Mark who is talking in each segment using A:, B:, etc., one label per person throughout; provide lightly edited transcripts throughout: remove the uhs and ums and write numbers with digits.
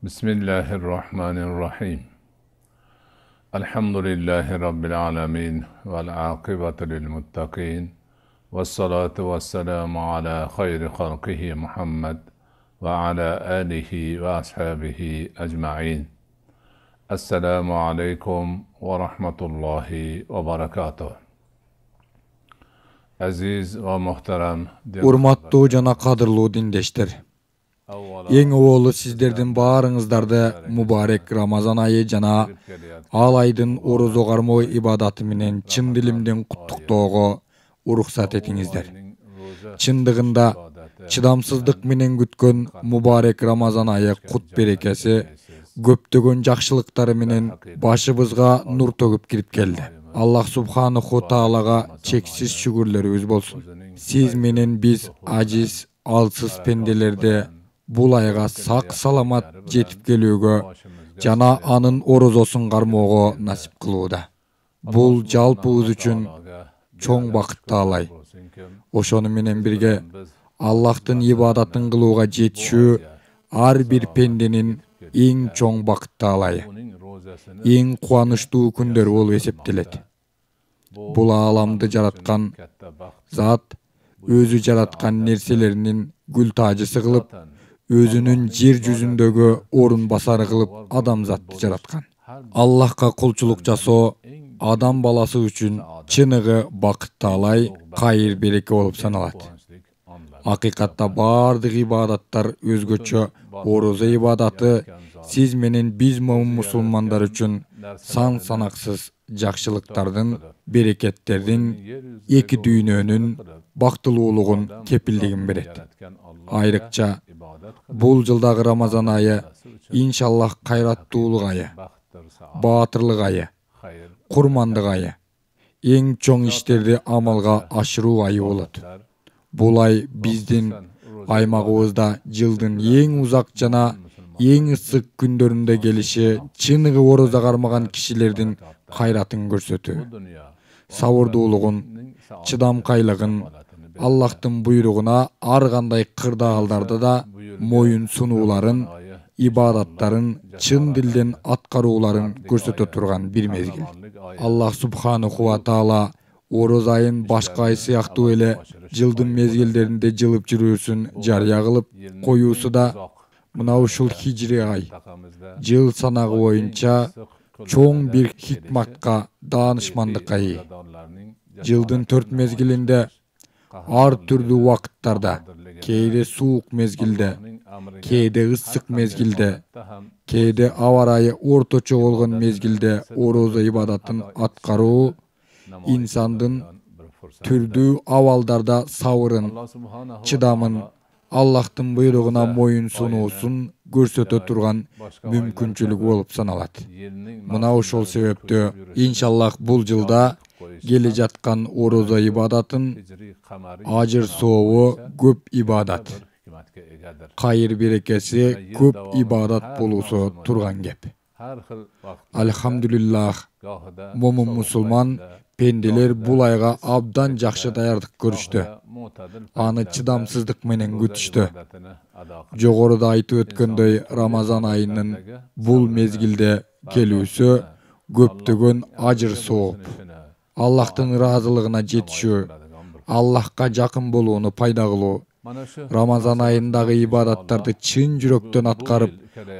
A: Bismillahirrahmanirrahim. Elhamdülillahi Rabbil alamin vel aqibatu lil muttaqin. Vessalatu vesselamu ala hayri halqihi Muhammed ve ala alihi ve ashabihi ecma'in. Esselamu aleykum ve rahmetullahi ve barakatuh. Aziz ve muhterem
B: Urmattуу жана кадырлуу диндештер. Эң оолу сиздердин баарыңыздарды мубарек Рамазан айы жана ал айдын орозо кармоо ибадаты менен чын дилимден куттуктоого уруксат этиңиздер. Чындыгында чыдамсыздык менен күткөн мубарек Рамазан айы кут берекеси көптөгөн жакшылыктары менен башыбызга нур төгүп кирип келди. Аллах субханаху таалага чексиз шүгүрлөрүбүз болсун. Сиз менен биз ажиз, алсыз пенделерди бул айга сак саламат жетип келүүгө жана анын орозосун кармоого насип кылууда. Бул жалпыбыз үчүн чоң бакыттуу ай. Ошону менен бирге Аллахтын ибадатын кылууга жетишүү ар бир пенденин эң чоң бакыттуу айы. Эң кубанычтуу күндөр болуп эсептелет. Бул ааламды жараткан Зат өзү жараткан нерселеринин гүл тажысы кылып, өзүнүн жер жүзүндөгү орун басары кылып адамзатты жараткан. Аллахка кулчулук жасоо адам баласы үчүн чыныгы бакыттуу ай, кайыр береке болуп саналат. Акыйкатта бардык ибадаттар өзгөчө. Орозо ибадаты сиз менен биз мусулмандар үчүн сан санаксыз жакшылыктардын, берекеттердин, эки дүйнөнүн бактылуулугун, кепилдигин берет. Айрыкча бул жылдагы Рамазан айы иншаллах кайраттуулук айы, баатырлык айы, курмандык айы, эң чоң иштерди амалга ашыруу айы болот. Бул ай биздин аймагыбызда жылдын эң узак жана эң ысык күндөрүндө келиши чыныгы орозо кармаган кишилердин кайратын көрсөтүү, сабырдуулугун, чыдамкайлыгын, Аллахтын буйругуна ар кандай кырдаалдарда да моюн сунууларын, ибадаттарын чын дилден аткарууларын көрсөтө турган бир мезгил. Аллах субханаху ва таала орозо айын башка ай сыяктуу эле жылдын мезгилдеринде жылып жүрүүсүн жарыя кылып коюусу да мына ушул хижри ай жыл санагы боюнча чоң бир хикматка, даанышмандыкка ээ. Жылдын 4 мезгилинде ар түрдүү убакыттарда, кээде суук мезгилде, кээде ысык мезгилде, кээде аба ырайы орточо болгон мезгилде орозо ибадатын аткаруу инсандын түрдүү абалдарда сабырын, чыдамын, Аллахтын буйругуна моюн сунуусун көрсөтө турган мүмкүнчүлүк болуп саналат. Мына ошол себептөө иншаллах бул жылда келе жаткан орозо ибадатын ажыр сообу көп ибадат, кайыр берекеси көп ибадат болуусу турган кеп. Алхамдулиллах, момун мусулман пенделер бул айга абдан жакшы даярдык көрүштү. Аны чыдамсыздык менен күтүштү. Жогоруда айтып өткөндөй, Рамазан айынын бул мезгилде келүүсү көптөгөн ажыр сооп, Аллахтын ыраазылыгына жетишүү, Аллахка жакын болууну пайда кылуу, Рамазан айындагы ибадаттарды чын жүрөктөн аткарып,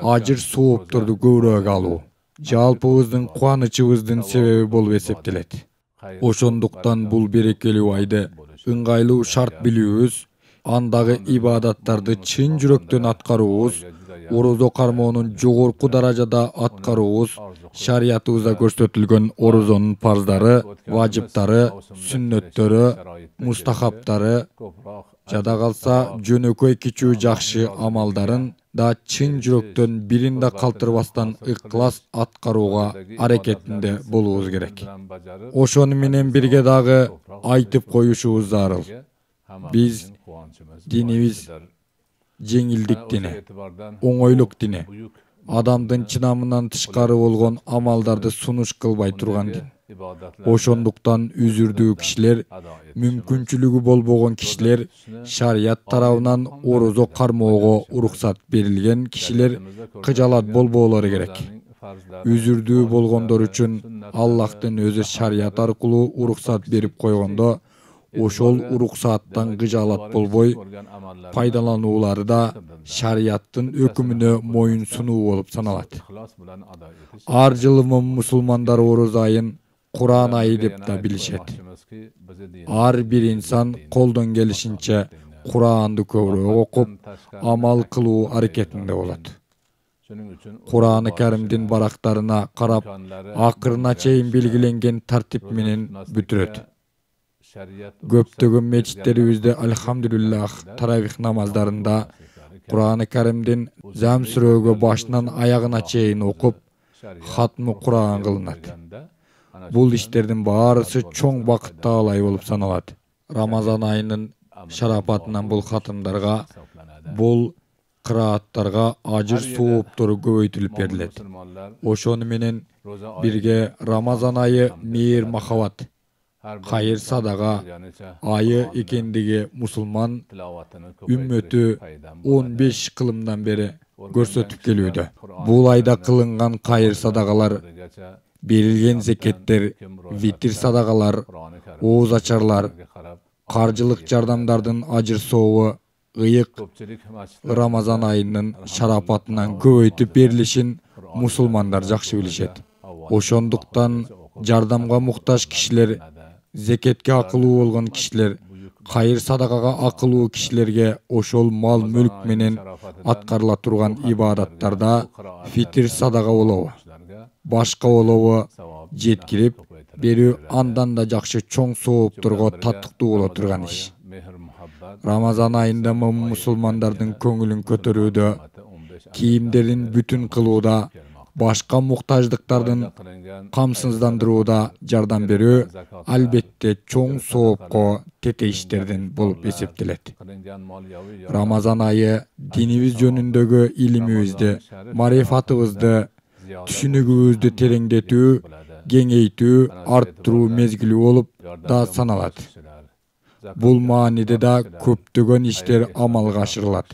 B: ажыр соопторду көбүрөөк алуу жалпыбыздын кубанычыбыздын себеби болуп эсептелет. Ошондуктан бул берекелүү айды ыңгайлуу шарт билүүбүз, андагы ибадаттарды чын жүрөктөн аткаруубуз, орозо кармоонун жогорку даражада аткаруубуз, шариятыбызда көрсөтүлгөн орозонун парздары, важыптары, сүннөттөрү, мустахаптары, жада калса жөнөкөй кичүү жакшы амалдарын да чын жүрөктөн бирин да калтырбастан ыклас аткарууга аракетинде болуубуз керек. Ошону менен бирге дагы айтып коюшубуз зарыл. Биз динибиз жеңилдик дини, оңойлук дини, адамдын чыдамынан тышкары болгон амалдарды сунуш кылбай турган дин. Ошондуктан үзүрдүү кишилер, мүмкүнчүлүгү болбогон кишилер, шарият тарабынан орозо кармоого уруксат берилген кишилер кыжалат болбоолору керек. Үзүрдүү болгондор үчүн Аллахтын өзү шарият аркылуу уруксат берип койгондо, ошол уруксаттан кыжалат болбой, пайдалануулары да шариаттын өкүмүнө моюн сунуу болуп саналат. Ар жылы мусулмандар орозо айын Куран айы деп да билишет. Ар бир инсан колдон келишинче Куранды көбүрөөк окуп, амал кылуу аракетинде болот. Куран-ы Каримдин барактарына карап, акырына чейин белгиленген тартип менен бүтүрөт. Көптөгөн мечиттерибизде альхамдулиллах таравих намаздарында Куран-ы Каримдин зам сүрөөгө башынан аягына чейин окуп, хатмы Куран кылынат. Бул иштердин баарысы чоң бакыт таалай болуп саналат. Рамазан айынын шарапатынан бул хатымдарга, бул кырааттарга ажыр сооптору көбөйтүлүп берилет. Ошону менен бирге Рамазан айы мейир махабат, кайыр садага айы экендиги мусулман үммөтү 15 кылымдан бери көрсөтүп келүүдө. Бул айда кылынган кайыр садагалар, берилген зекеттер, витир садагалар, ооз ачарлар, каржылык жардамдардын ажыр сообу ыйык Рамазан айынын шарапатынан көбөйтүп берилишин мусулмандар жакшы билишет. Ошондуктан жардамга муктаж кишилер, зекетке акылуу болгон кишилер, кайыр садакага акылуу кишилерге ошол мал мүлк менен аткарыла турган ибадаттарда фитир садага болобу, башка болобу жеткирип берүү андан да жакшы чоң соопторго татыктуу боло турган иш. Рамазан айында мусулмандардын көңүлүн көтөрүүдө, кийимдерин бүтүн кылууда, башка муктаждыктардын камсыздандырууда жардам берүү албетте чоң соопко тетейиштерден болуп эсептелет. Рамазан айы динибиз жөнүндөгү илимибизди, марифатыбызды, түшүнүгүбүздү тереңдетүү, кеңейтүү, арттыруу мезгили болуп да саналат. Бул мааниде да көптөгөн иштер амалга ашырылат.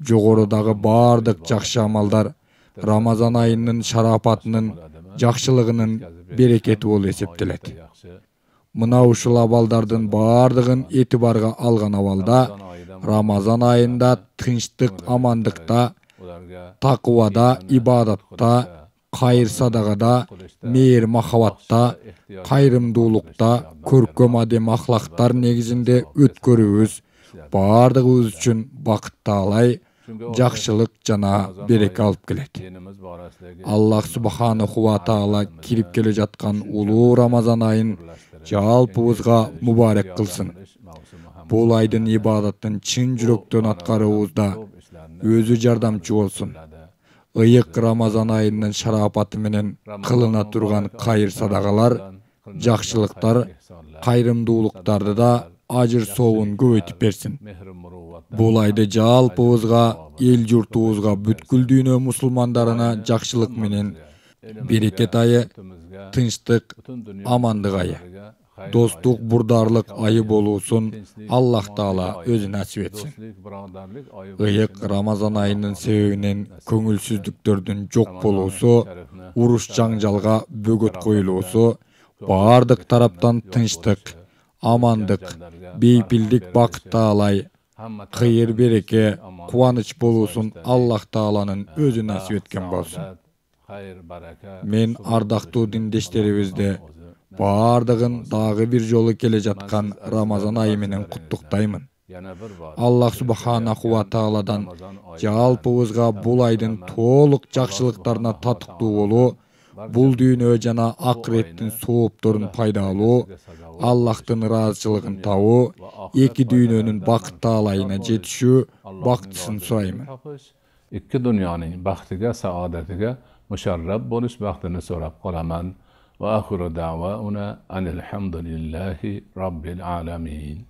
B: Жогорудагы баардык жакшы амалдар Рамазан айынын шарапатынын, жакшылыгынын берекети болуп эсептелет. Мына ушул абалдардын баардыгын этибарга алган абалда Рамазан айында тынчтык, амандыкта, такыбада, ибадатта, кайыр садагада, мейир махабатта, кайрымдуулукта, көркөм адем ахлактар негизинде өткөрүүбүз баардыгыбыз үчүн бакыт таалай, жакшылык жана береке алып келет. Аллах субханаху ва таала кирип келе жаткан улуу Рамазан айын жалпыбызга мубарек кылсын. Бул айдын ибадатын чын жүрөктөн аткаруубузда өзү жардамчы болсун. Ыйык Рамазан айынын шарапаты менен кылына турган кайыр садагалар, жакшылыктар, кайрымдуулуктарды да ажыр сообун көбөйтүп берсин. Бул айды жалпыбызга, эл журтубузга, бүткүл дүйнө мусулмандарына жакшылык менен берекет айы, тынчтык, амандык айы, достук, бурдарлык айы болуусун Аллах таала өзү насип этсин. Ыйык Рамазан айынын себебинен көңүлсүздүктөрдүн жок болуусу, уруш жаңжалга бөгөт коюлуусу, баардык тараптан тынчтык, амандык, бейпилдик бакыт таалай, кыйыр береке, кубаныч болуусун Аллах тааланын өзү насип эткен болсун. Мен ардактуу диндештерибизди баардыгын дагы бир жолу келе жаткан Рамазан айы менен куттуктаймын. Аллах субханаху ва тааладан жалпыбызга бул айдын толук жакшылыктарына татыктуу болуу, бул дүйнө жана акыреттин соопторун пайда алуу, Аллахтын ыраазычылыгын табуу, эки дүйнөнүн бакыт таалайына жетишүү бактысын сураймын.
A: Ikki dunyoning baxtiga, saodatiga musharraf bo'lish baxtini so'rab qolaman. Va axiru da'vauna anil hamdulillahi robbil alamin.